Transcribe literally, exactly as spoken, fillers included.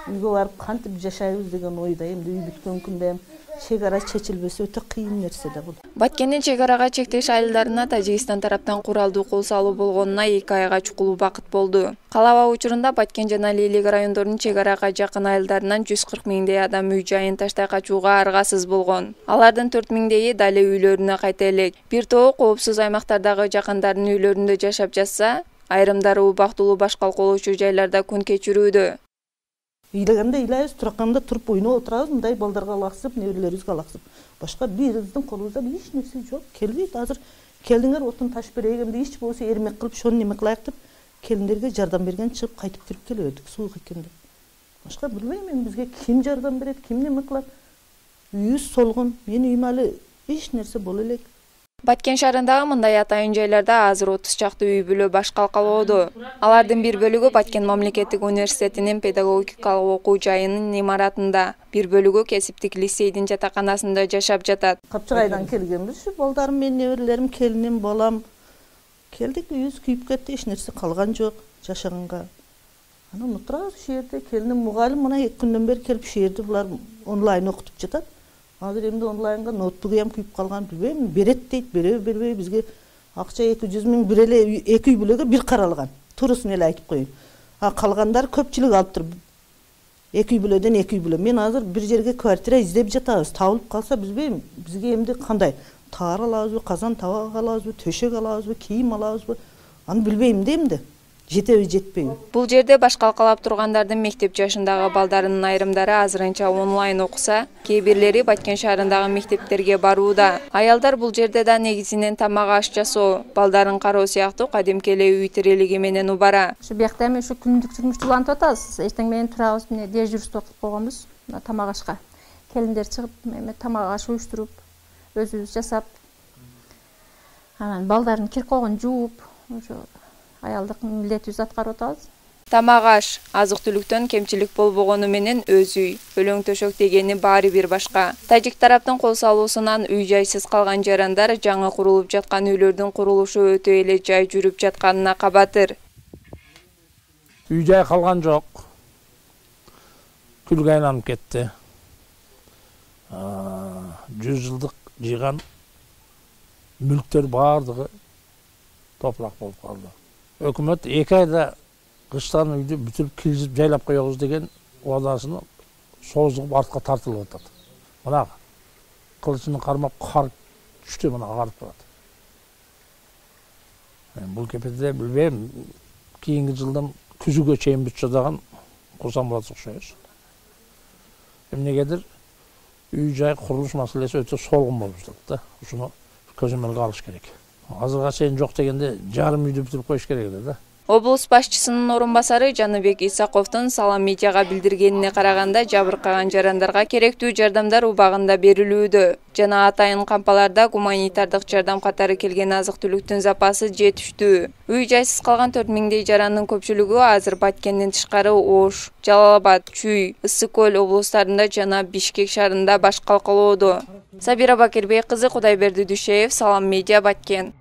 үйгө барып кантип жашайбыз деген ойдо. Эми үй бүткөн күндө чек ара чечилбесе өтө кыйын нерсе да бул. Баткендин чек арага чектеш айылдарына Тажикстан тараптан куралдуу кол салуу болгонуна эки айга чукул убакыт болду. Калаба учурунда Баткен жана Лейлек райондорунун чек арага жакын айылдарынан жүз кырк миңдей адам үй жайын таштай качууга аргасыз болгон. Алардын төрт миңдейи дале үйлөрүнө кайта элек. Бир тобу коопсуз аймактардагы жакындарынын үйлөрүндө жашап жатса, айрымдары убактылуу баш калкалоочу жайларда күн кечирүүдө. Ыйлаганда ыйлайбыз, тураканда туруп ойноп отурабыз, мындай балдарга алаксып, неберелерибизге алаксып. Башка бирибиздин колубузда эч нерсе жок. Келбейт. Азыр келдиңер, отун ташып берейик, эмне ич болсо эрмек кылып, шону неме кылайык деп келиндерге жардам берген чыгып кайтып кирип келебедик суук экенде. Башка билбейм мен, бизге ким жардам берет, ким неме кылат? Үйүбүз солгон. Менин үйүм алы эч нерсе боло элек. Баткен шаарындагы мындай атайын жайларда азыр отуз чакты үй бүлө баш калкалоодо. Алардын бир бөлүгү Баткен мамлекеттик университетинин педагогикалык окуу жайынын имаратында, бир бөлүгү кесиптик лицейдин жатаканасында жашап жатат. Капчыгайдан келгенбиз, балдарым менен, неберелерим, келиним, балам. Келдик, үйүбүз күйүп кетти, эч нерсе калган жок жашаганга. Анан отурабыз ушул жерде, келиним мугалим мына эки күндөн бери келип ушул жерде булар онлайн окутуп жатат. Азыр эмне онлайнга ноутбугу ham күйүп калган, билбейм, берет дейт, береби, бербей, бизге акча эки жүз миң бир эле эки үй бүлөгө бир каралган. Турусын эле айтып коеюн. А калгандар көпчүлүк алыптыр. Эки үй бүлөдөн эки үй бүлө. Мен азыр бир жерге квартира издеп жатабыз. Табылып калса, билбейм, бизге эмне кандай? Таар алабызбы, казан табак алабызбы, төшөк алабызбы, кийим алабызбы? Аны билбейм да эмне. Жетеби, жетпейби? Бул жерде баш калкалап тургандардын мектеп жашындагы балдарынын айрымдары азырынча онлайн окуса, кээ бирлери Баткен шаарындагы мектептерге барууда. Аялдар бул жерде да негизинен тамак аш жасоо, балдарын кароо сыяктуу кадимки эле үй тирелиги менен убара. Ушу биякта эми ушу күндүк турмуш улантып атабыз. Эчтең менен турабыз, мына дежурство кылып койгонбуз тамак ашка. Келиндер чыгып, эме тамак аш уюштуруп, өзүбүз жасап, анан балдарын кир койгон жууп, ошо аялдык милдетибизди аткарып атабыз. Тамак аш, азык-түлүктөн кемчилик болбогону менен өз үй, өлөң төшөк дегени баары бир башка. Тажик тараптын кол салуусунан үй жайсыз калган жарандар жаңы курулуп жаткан үйлөрдүн курулушу өтө эле жай жүрүп жатканына кабатыр. Үй жай калган жок. Күлгө айланып кетти. жүз жылдык жыйган мүлктөр баардыгы топурак болуп калды. Өкмөт эки айда кыштан үйдү бүтүп киргизип жайлап коебуз деген убадасын созуп артка тартылып атат. Мына кылычын кармап кар түштү, мына карып турат. Бул кепеде билбейм, кийинки жылдан күзүгө чейин бүтчү даган курсам болот окшойбуз. Эмнегедир үй жай курулуш маселеси өтө солгун болуп жатат да. Ушуну көзөмөлгө алыш керек. Азырга чейин жок дегенде жарым үйдү бүтүрүп коюш керек эле да. Облус башчысынын орун басары Жаныбек Исаковдун Салам медиага билдиргенине караганда, жабыркаган жарандарга керектүү жардамдар убагында берилүүдө. Жана атайын кампаларда гуманитардык жардам катары келген азык-түлүктүн запасы жетиштүү. Үй жайсыз калган төрт миңдей жарандын көпчүлүгү азыр Баткенден тышкары Ош, Жалал-Абад, Чүй, Ысык көл облустарында жана Бишкек шаарында баш калкалоодо. Сабира Бакирбек кызы, Кудайберди Дүйшеев, Салам медиа, Баткен.